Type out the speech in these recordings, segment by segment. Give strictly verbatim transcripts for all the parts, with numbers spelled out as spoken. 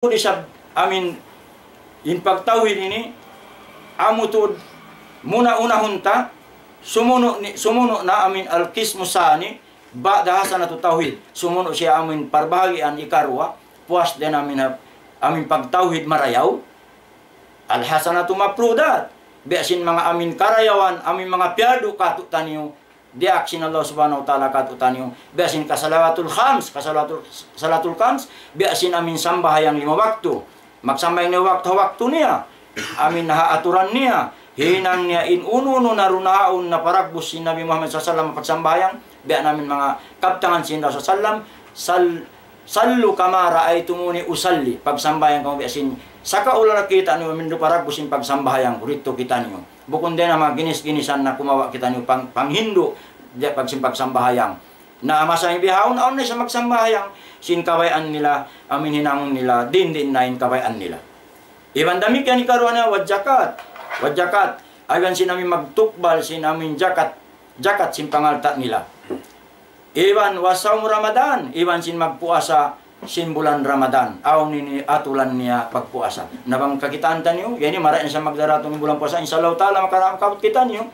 Di' isab amin in pagtawhid ini, amu tuud muna-unahun ta, sumunu' ni, sumunu' na amin al-qismu sani, ba'da hasanatu tawhid. Sumunu' siya amin parbahagian ikaruwa, puas dayn amin ha, amin pagtawhid marayaw. Al-hasanatu mafrudat. Biya' sin manga amin karayawan, amin manga piyardu katu'taniyu, diyaak sin Allah Subhanahu wa Ta'ala katu'taniyu. Biya' sin kasalawatul khams, kasalawatul, salatul khams, biya' sin amin sambahayang lima waktu. Magsambahayang lima waktu ha waktu niya. Amin ha aturan niya. Hinang niya in unu-unu na duun ha yaun na paragbus sin Nabi Muhammad sallallahu alayhi wasallam pagsambahayang. Biya' na amin manga kabtangan sin Rasul sallam, sal-, "Sallu kama ra'aytumuni usalli." Pagsambahayang kamu biya' sin sakaula nakita' niyu amin duun paragbus sin pagsambahayang ku, didtu kitaniyu. Bukun dayn ha manga ginis-ginisan na kumawa' kitaniyu pang-, panghindu', diya' pag sin pagsambahayang. Na masa ini bihaun, awn na isab magsambahayang. Sin kabayaan nila, amin hinangun nila, diin-diin na in kabayaan nila. Iban damikkiyan ikaruwa niya, wa jakat. Wa jakat. Iban sin amin magtukbal, sin amin jakat, jakat sin pangalta' nila. Iban wa sawm Ramadan, iban sin magpuasa sin bulan Ramadan. Awn ini aturan niya pagpuasa. Na bang kakitaan taniyu, yan ini marayaw na siya magdaratung bulan puasa. Insya Allah Ta'ala, maka-, makaabut kitaniyu.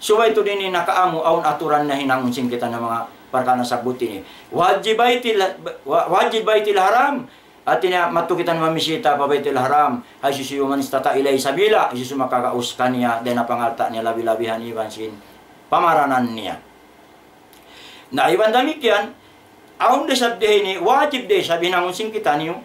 Subay tuud ini nakaamu, awn aturan na hinangun sin kita na manga parkala' nasabbut ini. Wajib Baitil, wa-, wajib Baitil Haram. Hati niya, madtu kita mamisita pa Baitul Haram, hisiyu-siyu, man istata'a ilayhi sabila, hisiyu-siyu makagaus kaniya, dayn ha pangalta' niya labi-labihan iban sin pamaranan niya. Na iban damikkiyan, awn da isab di ini, wajib da isab hinangun sin kitaniyu,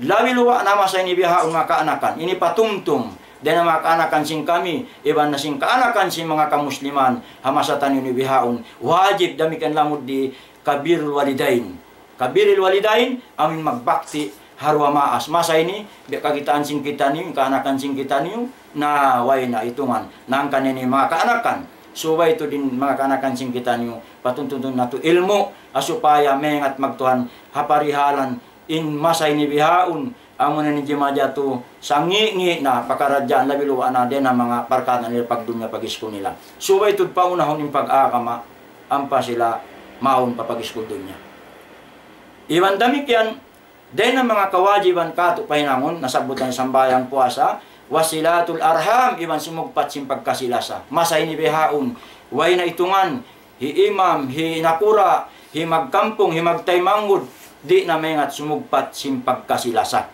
labi luba' na masa ini bihaun manga kaanakan, ini patumtum, dayn ha manga kaanakan sin kami, iban na sin kaanakan sin manga kamusliman, ha masa taniyu ini bihaun, wajib damikkiyan lamud di kabirril walidain. Kabirril walidain, amin magbakti ha duwa maas. Masa ini, biya' kakitaan sin kitaniyu, kaanakan sin kitaniyu, na way na itungan. Na hangkan ini manga kaanakan. Subay tuud in manga kaanakan sin kitaniyu, patuntutun natu' ilmu', ha supaya maingat magtuhan ha parihalan in masa ini bihaun, amu na in jimatu, sangi'-ngi' na pakaradjaan labi luba' na dayn ha manga parkala' nila pagdunya pag-iskul nila. Subay tuud paunahun in pag-agama, ampa sila mawn pa pag-iskul dunya. Iban damikkiyan, dayn ha manga kawajiban katu' pahinangun, nasabbut na sambahayang puasa, wasilatul arham, iban sumugpat sin pagkasi-lasa. Masa ini bihaun, way na itungan, hi imam, hi nakura', hi magkampung, hi magtaymanghud, di' na maingat sumugpat sin pagkasi-lasa.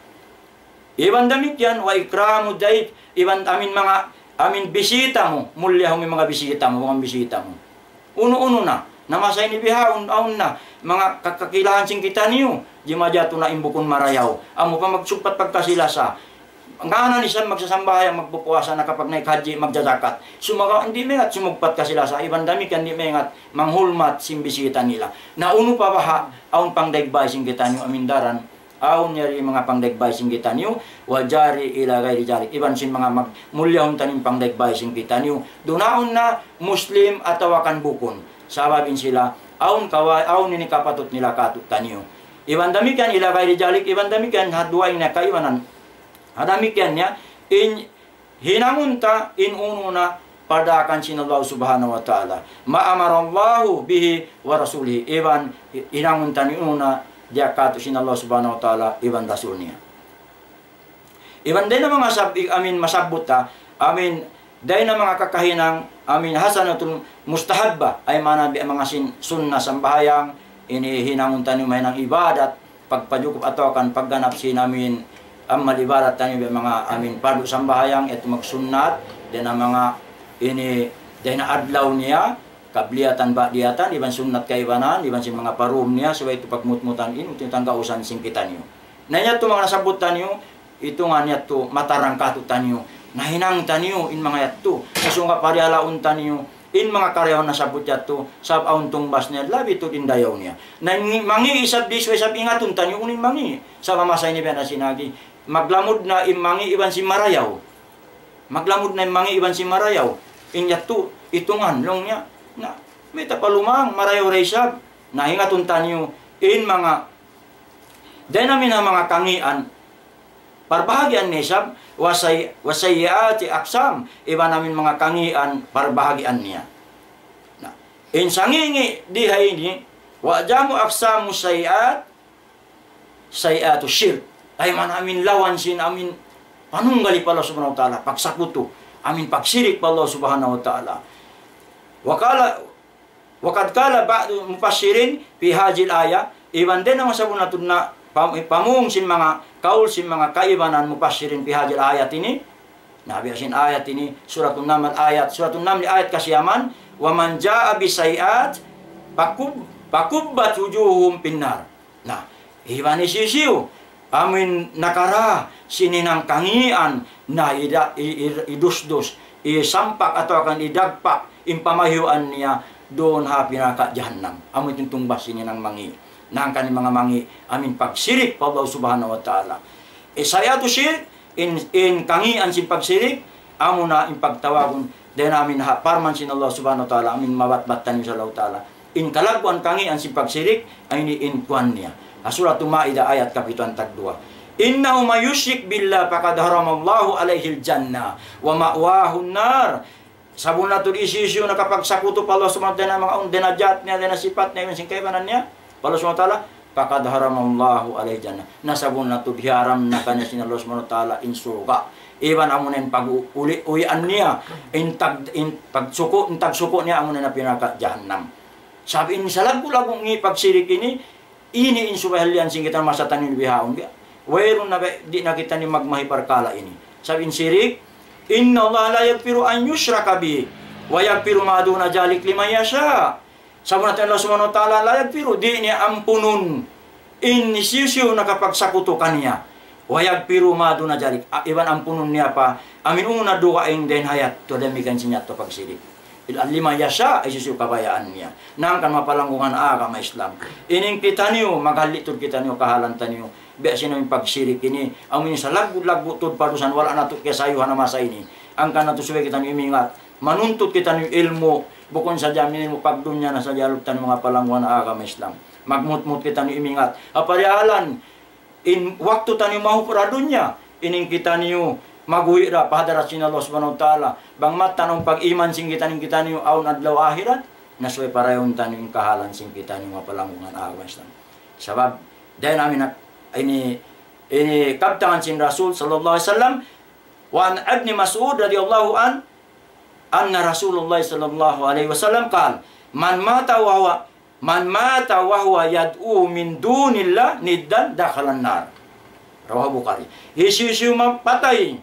Iban damikkiyan, wa ikramu dayf, iban amin manga, amin bisita mu, mulliyahu in manga bisita mu, manga bisita mu. Unu-unu na, na masa ini bihaun, awn na, manga ka-, kakilahan sin kitaniyu, jimatu na in bukun marayaw. Amu pa magsugpat pagkasi-lasa. Ngān na isab magsasambahayang, magpupuasa, nakapagnaik hajji, magjajakat. Sumagawa' di' maingat sumugpat kasi-lasa, iban damikkiyan di' maingat manghulmat sin bisita nila. Na unu pa baha', awn pangdaig bay sin kitaniyu amin daran, awn yari manga pangdaig bay sin kitaniyu, wa jari ila ghairi jalik. Iban sin manga mag-, mulliyaun taniyu in pangdaig bay sin kitaniyu. Duun na awn na Muslim atawa kan bukun. Sabab in sila, awn kawa-, awn ini kapatut nila katu'taniyu. Iban damikkiyan ila ghairi jalik, iban damikkiyan ha duwa ini kaibanan. Ha damikkiyan niya, in hinangun ta in unu na pardaakan sin Allah Subhanahu wa Ta'ala. Ma amara Allahu bihi wa rasulihi. Iban hinangun ta in unu na diyaak katu' sin Allah Subhanahu wa Ta'ala iban Rasul niya. Iban dayn ha manga sab-, amin masabbut ta, amin dayn ha manga kakahinang, amin hasanatul mustahabba, ay maana biya' manga sin sunnah sambahayang, ini hinangun taniyu mahinang ibadat, pagpajukup atawa kan pagganap sin amin amal ibadat taniyu biya' manga amin pardu sambahayang, yadtu magsunnat, dayn ha manga ini, dayn ha adlaw niya, qabliyatan ba'diyatan, iban sunnat kaibanan, iban sin manga parum niya, subay yadtu pagmutmutan in, uti tangga usan sin kitaniyu. Na yadtu manga nasabbut taniyu, itungan yadtu matarang katu'taniyu. Nahinang taniyu in manga yadtu. Sasungga' parihalaun taniyu in manga karayawan nasabbut yadtu, sabab awn tungbas niya, labi tuud in dayaw niya. Na in mangi' isab di' subay isab ingatun taniyu unu in mangi'. Sabab masa ini biya' na sin agi. Maglamud na in mangi' iban sin marayaw. Maglamud na in mangi' iban sin marayaw. In yadtu, itungan, laung niya. Na, mayta' pa lumang, marayaw da isab. Na, ingatun taniyu in manga, dayn amin ha manga kangian, parbahagian niya isab, wasay-, wasayyiati aqsam, iban amin manga kangian, parbahagian niya. Na, in sangi'-ngi' di ha ini, wa a'zamu aqsamu sayyiat, sayyiatu shirk. Ay man amin lawan sin amin panunggali pa Allah Subhanahu wa Ta'ala, pagsakutu, amin pagsirik pa Allah Subhanahu wa Ta'ala. وقال وقد قال بعض المفسرين في هذه الآية, iban dayn ha manga sabunnal tuud na pam-, pamung sin manga kaul sin manga kaibanan mufassirin في هذه الآية ini, na biya' sin ayat ini, Suratun Naml ayat, Suratun Naml ayat kasiyaman, ومن جاء بالسيئات فكب-, فكبت وجوههم في النار. Na, iban hisiyu-siyu amin nakara sin hinang kangīan, na ida-, i-, i-, idusdus, isampak atawa kan idagpak in pamahiuan niya duun ha api narka' jahannam. Amu in tungbas sin hinang mangī'. Na hangkan in manga mangī', amin pagsirik pa Allah Subhanahu wa Ta'ala. Sayyi'atu shirk, in, in kangīan sin pagsirik, amuna in pagtawagun, dayn ha amin ha parman sin Allah Subhanahu wa Ta'ala, amin mabatbat taniyu sin Allah Ta'ala. In kalagguan kangīan sin pagsirik, amu ini in kuwan niya. Ha Suratul Ma'idah ayat kapituan tagduwa. إنه من يشرك بالله فقد حرم الله عليه الجنة ومأواه النار. Sabunnal tuud hisiyu-siyu nakapagsakutu pa Allah Subhanahu wa Ta'ala, manga un-, dayn ha jat niya, dayn ha sipat niya, iban sin kaibanan niya pa Allah Subhanahu wa Ta'ala, فقد حرم الله عليه الجنة. Na sabunnal tuud hiyaram na kaniya sin Allah Subhanahu wa Ta'ala in surga'. Iban amuna in pag-uli-, uwian niya, in tag-, in pagsuku', in tagsuku' niya amuna in api narka' jahannam. Sabab in salaggu'-laggu' ngi' pagsirik ini, ini in subay halian sin kita masa taniyu bihaun biya'. Wayruun na ba, di' na kitaniyu magmahi parkala' ini. Sabab in sirik, إن الله لا يغفر أن يشرك به ويغفر ما دون ذلك لمن يشاء. Sabunnal tuud Allah Subhanahu wa Ta'ala لا يغفر, di' niya ampunun in hisiyu-siyu nakapagsakutu kaniya. ويغفر ما دون ذلك. A, iban ampunun niya pa, amin unu na dugaing dayn ha yadtu, damikkiyan sin yadtu pagsirik. لمن يشاء, hisiyu-siyu kabayaan niya. Na hangkan mapalanggungan agama Islam. Ini in kitaniyu, maghali' tuud kitaniyu, kahalan taniyu. Biya' sin amin pagsirik ini, amu in salaggu'-laggu' tuud padusahan, wala' natu' kiyasayuhan ha masa ini. Hangkan natu' subay kitaniyu imingat. Manuntut kitaniyu ilmu', bukun sadja amin ilmu' pagdunya na sadja, alu taniyu manga palanggungan agama Islam. Magmutmut kitaniyu imingat. Ha parihalan, in waktu taniyu mahupur ha dunya, ini in kitaniyu mag'uwi' da pa hadarat sin Allah Subhanahu wa Ta'ala. Bang mattanu pag-iman sin kitaniyu, kitaniyu awn adlaw akhirat, na subay parayawun taniyu in kahalan sin kitaniyu manga palanggungan agama Islam. Sabab, dayn ha amin nak-, ini, ini kabtangan sin Rasul sallallahu alayhi wasallam, وعن ابن مسعود رضي الله عنه أن رسول الله صلى الله عليه وسلم قال: من مات وهو، من مات وهو يدعو من دون الله ندا دخل النار. رواه البخاري. Hisiyu-siyu mapatay,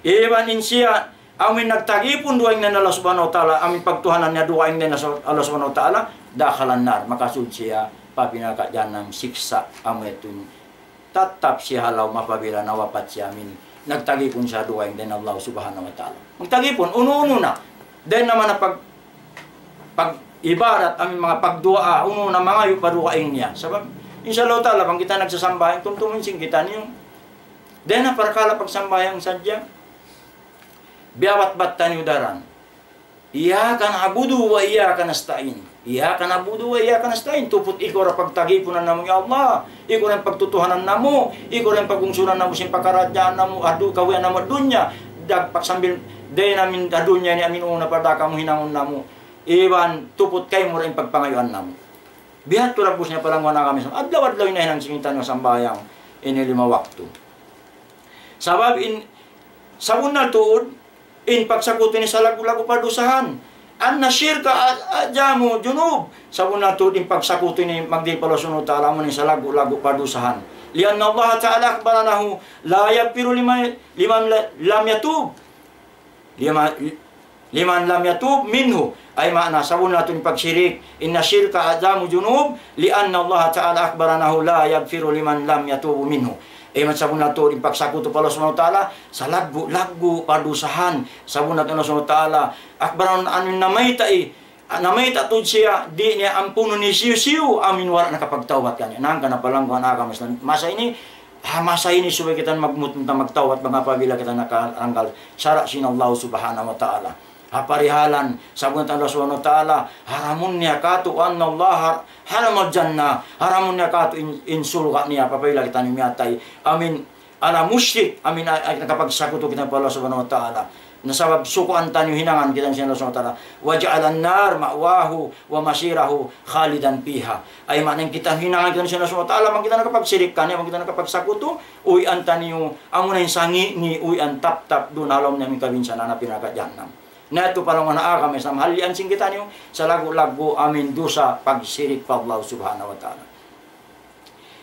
iban in siya amu in nagtagipun dugaing dayn Allah Subhanahu wa Ta'ala, amu in pagtuhanan niya dugaing dayn Allah Subhanahu wa Ta'ala, دخل النار, makasud siya pa api narka' jahannam siksa', amu yadtu in tattap siya ha lawm apabila nawapat siya amu in nagtagipun siya dugaing dayn Allah Subhanahu wa Ta'ala. Magtagipun, unu-unu na. Dayn ha manga pag-, pag-ibadat, amu in manga pagduwaa, unu na mangayu' pa dugaing niya. Sabab, insya Allah Ta'ala, bang kita nagsasambahayang, tumtumun sin kitaniyu. Dayn ha parkala' pagsambahayang sadja. Biyabatbat taniyu daran. إياك نعبد وإياك نستعين. إياك نعبد وإياك نستعين. Tuput ikaw ra pagtagipunan namu', ya Allah. Ikaw ra in pagtutuhanan namu'. Ikaw ra in pagungsuran namu' sin pakaradjaan namu', adu, kabuhian namu' ha dunya. Dagpak sambil dayn ha amin ha dunya ini amu in unu na pa da kamu hinangun namu'. Iban tuput kaymu ra in pagpangayuan namu'. Biya' hādtu dagbus niya palangguan agama Islam. Adlaw-adlaw in hinang sin kitaniyu sambahayang ini lima waktu. Sabab in, sabunnal tuud, in pagsakutu ini salaggu'-laggu' padusahan. أن الشرك أعظم الذنوب. Sabunnal tuud in pagsakutu ini magdihil pa Allah Subhanahu wa Ta'ala, amu in salaggu'-laggu' padusahan. لأن الله تعالى أخبر أنه لا يغفر لمن، لمن لم يتوب. لمن، لمن لم يتوب منه. Ay maana, sabunnal tuud in pagsirik, إن الشرك أعظم الذنوب، لأن الله تعالى أخبر أنه لا يغفر لمن لم يتوب منه. Ay maana, sabunnal tuud in pagsakutu pa Allah Subhanahu wa Ta'ala, salaggu'-laggu' padusahan. Sabunnal tuud Allah Subhanahu wa Ta'ala, أخبر أنه, amu in namayta' i, namayta' tuud siya, di' niya ampunun hisiyu-siyu, amu in wala' nakapagtawbat kaniya. Na hangkan manga palangguan agama Islam. Masa ini, ha masa ini subay kita magmut-, magtawbat bang apabila kita nakalanggal sara' sin Allah Subhanahu wa Ta'ala. Ha parihalan, sabunnal Allah Subhanahu wa Ta'ala, haramun niya kātu', أن الله حرم الجنة, haramun niya kātu' in, in surga' niya, apabila kita ini miyatay. Amu in, ala mushrik, amin a-, a-, nakapagsakutu kita pa Allah Subhanahu wa Ta'ala. Na sabab sukuan taniyu hinangan kita sin Allah Subhanahu wa Ta'ala. وجعل النار مأواه ومصيره خالدا فيها. Ay maana in kita hinangan kita sin Allah Subhanahu wa Ta'ala, bang kita nakapagsirik kaniya, bang kita nakapagsakutu, uwian taniyu, amuna in sangi' niya, uwian taptap duun ha lawm niya amin kabinsanaan, api narka' jahannam. Na yadtu pa laung niya agama Islam, halian sin kitaniyu, salaggu'-laggu' amin dusa pagsirik pa Allah Subhanahu wa Ta'ala.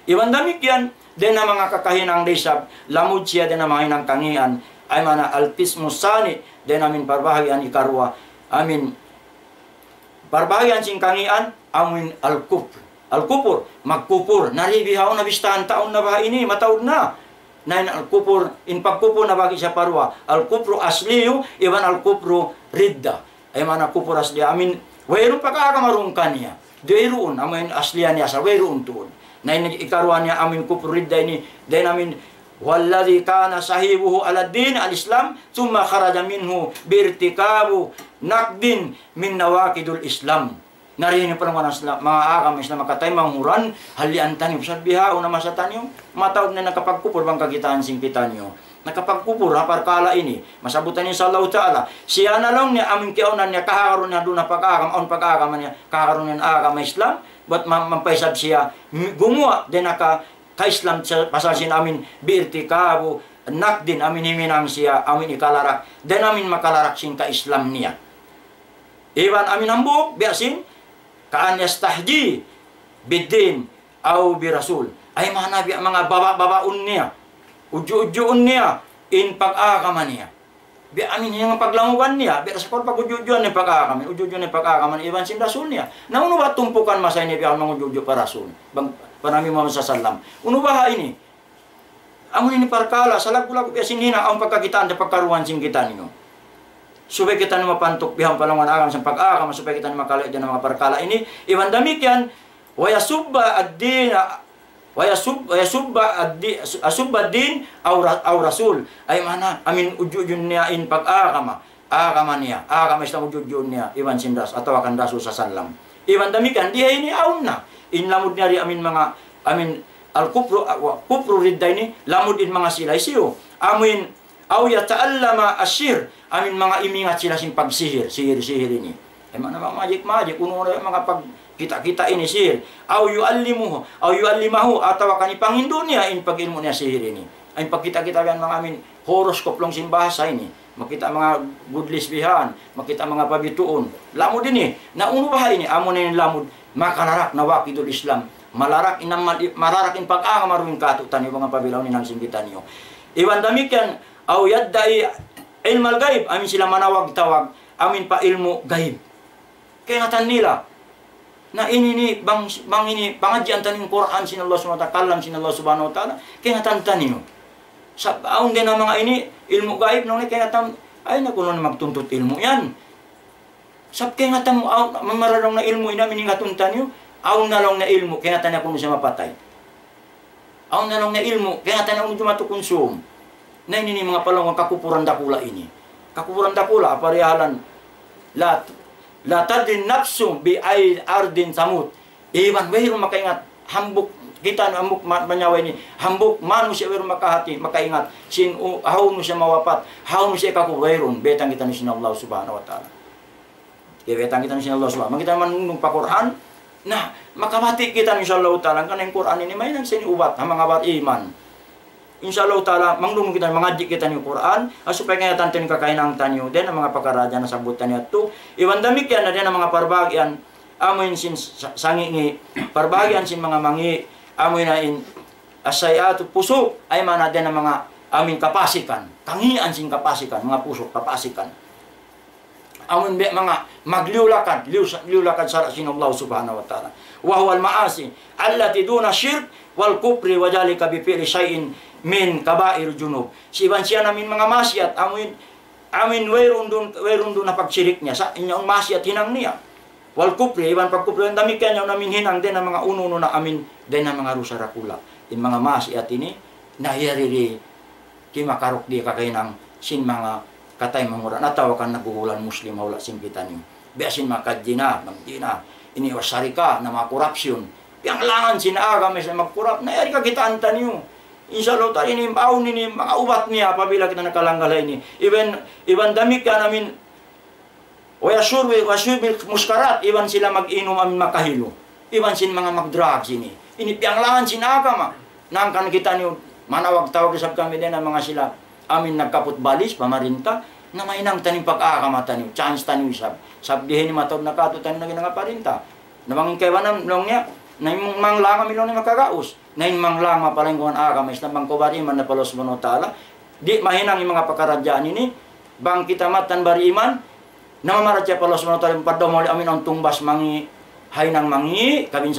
Iban damikkiyan, dayn ha manga kakahinang da isab, lamud siya dayn ha manga hinang kangian, ay maana القسم الثاني, dayn ha amin parbahagian ikaruwa, amin parbahagian sin kangian, amin al-kufr. Al-kufr, magkupur, na di' bihaun na bistahan taun na baha' ini, mataud na. Na in al-kufr, in pagkupur nabahagi' siya pa duwa. الكفر الأصلي, iban الكفر الردة. Ay maana kufur asli, amin, wayruun pag-agama duun kaniya. Di' wayruun, amin asliya niya sa, wayruun tuud. Na in ikaruwa niya, amin kufur ridda ini, dayn amin, هو الذي كان صاحبه على الدين الإسلام ثم خرج منه بارتكاب نقض من نواقض الإسلام. Na di' ini pa laung niya Islam, manga agama Islam, makatay manguran, halian taniyu, sa' bihaun na masa taniyu, mataud na nakapagkupur bang kakitaan sin kitaniyu. Nakapagkupur ha parkala' ini, masabutan insya Allah Ta'ala. Siya na laung niya amin kiyaunan niya, kahagarun niya duun ha pag-agama, awn pag-agama niya, kahagarun niya agama Islam, bat ma-, mapaisab siya, m-, gumuwa', dayn ha ka-, ka-Islam sa-, pasal sin amin, بارتكاب نقض, amin himinang siya, amin ikalarak, dayn amin makalarak sin ka-Islam niya. Iban amin hambuuk, biya' sin, كأن يستهزئ بالدين أو بالرسول. Ay maana biya' manga baba'-babaun niya, udju'-udjuun niya, in pag-agama niya. Biya' amin in paglanguban niya, biya' sa' pag-udju'-udjuan niya pag-agama, udju'-udjuan niya pag-agama, iban sin Rasul niya. Na unu ba tumpukan masa ini biya' mangudju'-udju' pa Rasul? Bang, pa Nabi Muhammad sallallahu alayhi wasallam. Unu ba ini? Amu ini parkala', salaggu'-laggu' biya' sin hinang, awn pagkakitaan, pagkaruan sin kitaniyu. Supaya kitaniyu mapantuk bihaun pa laung niya agama, sin pag-agama, supaya kitaniyu makalayu' dayn ha manga parkala' ini. Iban damikkiyan, ويسب الدين، ويسب، ويسب الدي-، يسب الدين أو ر-، أو الرسول. Ay maana, amin udju'-udju' niya in pag-agama. Agama niya, agama Islam udju'-udju' niya, iban sin Ras-, atawa kan Rasul sallallahu alayhi wasallam. Iban damikkiyan, di ha ini awn na. In lamud niya di amin manga, amin al-kufru, ah, wa-, kufru ridda ini, lamud in manga sila hisiyu. Amin, أو يتعلم السحر, amin manga imingat sila sin pagsihir, sihir-sihir ini. Ay maana manga magic-magic, unu na manga pagkita'-kita' ini sihir. أو يعلمه، أو يعلمه, atawa kan ipangindu' niya in pag-ilmu' niya sihir ini. Ay pagkita'-kita' yan manga amin, horoscope laung sin bahasa ini. Makita' manga good lesbian, makita' manga pabituun. Lamud ini, na unu baha' ini, amu na in lamud, makalarak nawaqidul Islam. Malarak in amal, malarak in pag-agama duun kātu'niyu, manga pabilaw hinang sin kitaniyu. Iban damikkiyan, أو يدعي علم الغيب, amin sila manawag-tawag, amin pa ilmu' gaib. Kaingatan nila. Na ini ini, bang, bang ini, pangadjian taniyu in Qur'an sin Allah Subhanahu wa Ta'ala, kalam sin Allah Subhanahu wa Ta'ala, kaingatan taniyu. Sa' awn dayn ha manga ini, ilmu' gaib, nung kaingatan, ay na kunu' na magtuntut ilmu' yan. Sa' kaingatan mu, awn, mamara laung niya ilmu' ini, amin ingatun taniyu, awn na laung niya ilmu', kaingatan niya kunu' siya mapatay. Awn na laung niya ilmu', kaingatan niya unu jumatu kunsum. Na ini in manga palangwan kakupuran dakula' ini. Kakupuran dakula', parihalan. لا، لا تدري نفس بأي أرض تموت. Iban wayruun makaingat, hambuuk kita, hambuuk ma-, manyawa ini, hambuuk manusiya' wayruun makahati, makaingat, sin u-, hawnu siya mawapat, hawnu siya kakubur, wayruun, baytaan kitaniyu sin Allah Subhanahu wa Ta'ala. Kaya baytaan kitaniyu sin Allah Subhanahu. Bang kita manunung pa Qur'an, na, makamati' kita, insya Allah Ta'ala, karna' in Qur'an ini mahinang sin ubat, ha manga bariman. Insya Allah Ta'ala, manunung kita, mangadji' kitaniyu Qur'an, ah, supaya kaingatan taniyu in kakahinang taniyu, dayn ha manga pakaradjaan nasabbut taniyu yadtu, iban damikkiyan na dayn ha manga parbahagian, amu in sin sa-, sangi'-ngi', parbahagian sin manga mangi', amu in, in, السيئات فسوق, ay maana dayn ha manga, amu in kapasikan, kangian sin kapasikan, manga pusuk, kapasikan. Amun biya' manga magliyu-lakad, liyu-, liyu-lakad sara' sin Allah Subhanahu wa Ta'ala. وهو المعاصي التي دون الشرك والكفر وذلك بفعل شيء من كبائر الذنوب. Iban siya na amin manga maksiat, amin, amin wayruun duun, wayruun duun na pagsirik niya, sa' in yaun maksiat hinang niya. والكفر, iban pagkupur, damikkiyan yaun amin hinang dayn ha manga unu-unu na amin, dayn ha manga dusa dakula'. In manga maksiat ini, na yari di kimakaruk di kakahinang sin manga kataymanghuran atawa kan naghuhulan Muslim ha hula' sin kitaniyu. Biya' sin manga kazzina, magjina. Ini والسرقة, na manga korupsyon. Piyanglangan sin agama Islam magkorap. Na yari kakitaan taniyu. Insya Allah ta'ala ini, awn ini, manga ubat niya apabila kita nakalanggal ini. Iban, iban damikkiyan amin, wa yashurbu, wa shurbil muskarat, iban sila mag-inum amin makahilu. Iban sin manga mag-drugs ini. Ini piyanglangan sin agama. Hangkan kitaniyu, manawag-tawag isab kami dayn ha manga sila amin nagkaput balis, pamarinta, na mahinang taniyu pag-agama taniyu, chance taniyu isab. Sabab di' ini mataud na katu' taniyu naging nanga parinta. Na bang in kaibanan, laung niya, na in manglang amin laung niya makagaus. Na in manglang mapaling kuwan agama Islam bang kaw bariman na pa Allah Subhanahu wa Ta'ala. Di' mahinang in manga pakaradjaan ini, bang kita mattan bariman, na mamaratiyaya pa Allah Subhanahu wa Ta'ala, padda muli amin ang tungbas mangi', haynang mangi', kabinsa